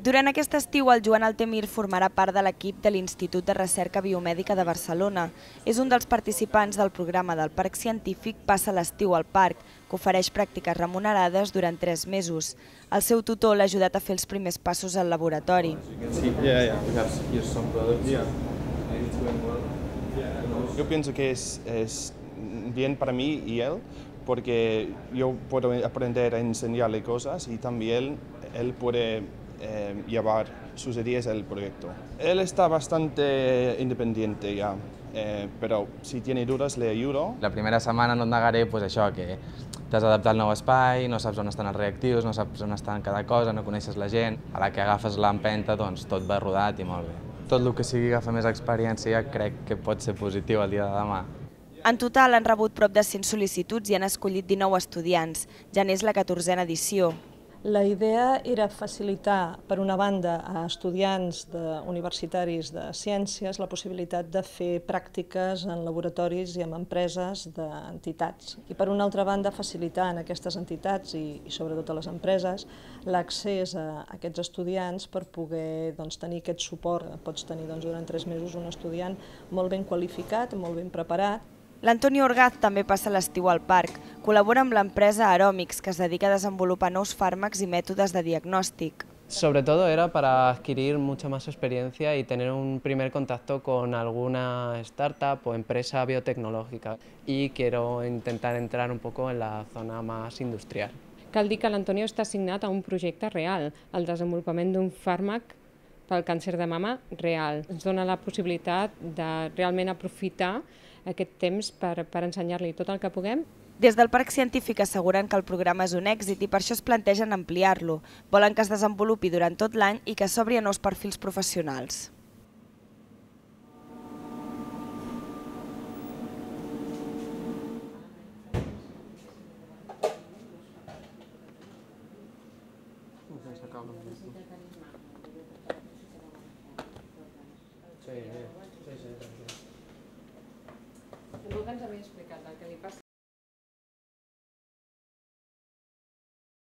Durant aquest estiu, el Joan Altemir formarà part de l'equip de l'Institut de Recerca Biomèdica de Barcelona. És un dels participants del programa del Parc Científic Passa l'estiu al parc, que ofereix pràctiques remunerades durant 3 mesos. El seu tutor l'ha ajudat a fer els primers passos al laboratori. Yo pienso que es bien para mí y él, porque yo puedo aprender a enseñarle cosas y también él puede llevar sus ideas al proyecto. Él está bastante independiente ya, però si tiene dudas le ayudo. La primera setmana no et negaré això, que t'has d'adaptar al nou espai, no saps on estan els reactius, no saps on estan cada cosa, no coneixes la gent. A la que agafes l'empenta, doncs tot va rodat i molt bé. Tot el que sigui agafar més experiència crec que pot ser positiu el dia de demà. En total han rebut prop de 100 sol·licituds i han escollit 19 estudiants. Ja n'és la 14a edició. La idea era facilitar, per una banda, a estudiants universitaris de ciències la possibilitat de fer pràctiques en laboratoris i en empreses d'entitats. I per una altra banda, facilitar en aquestes entitats i sobretot a les empreses l'accés a aquests estudiants per poder tenir aquest suport. Pots tenir durant 3 mesos un estudiant molt ben qualificat, molt ben preparat. L'Antoni Orgaz també passa l'estiu al parc. Col·labora amb l'empresa Aromix, que es dedica a desenvolupar nous fàrmacs i mètodes de diagnòstic. Sobre todo era para adquirir mucha más experiencia y tener un primer contacto con alguna startup o empresa biotecnológica. Y quiero intentar entrar un poco en la zona más industrial. Cal dir que l'Antonio està assignat a un projecte real, el desenvolupament d'un fàrmac pel càncer de mama real. Ens dona la possibilitat de realment aprofitar aquest temps per ensenyar-li tot el que puguem. Des del Parc Científic asseguren que el programa és un èxit i per això es plantegen ampliar-lo. Volen que es desenvolupi durant tot l'any i que s'obri a nous perfils professionals. Algú que ens havia explicat el que li passa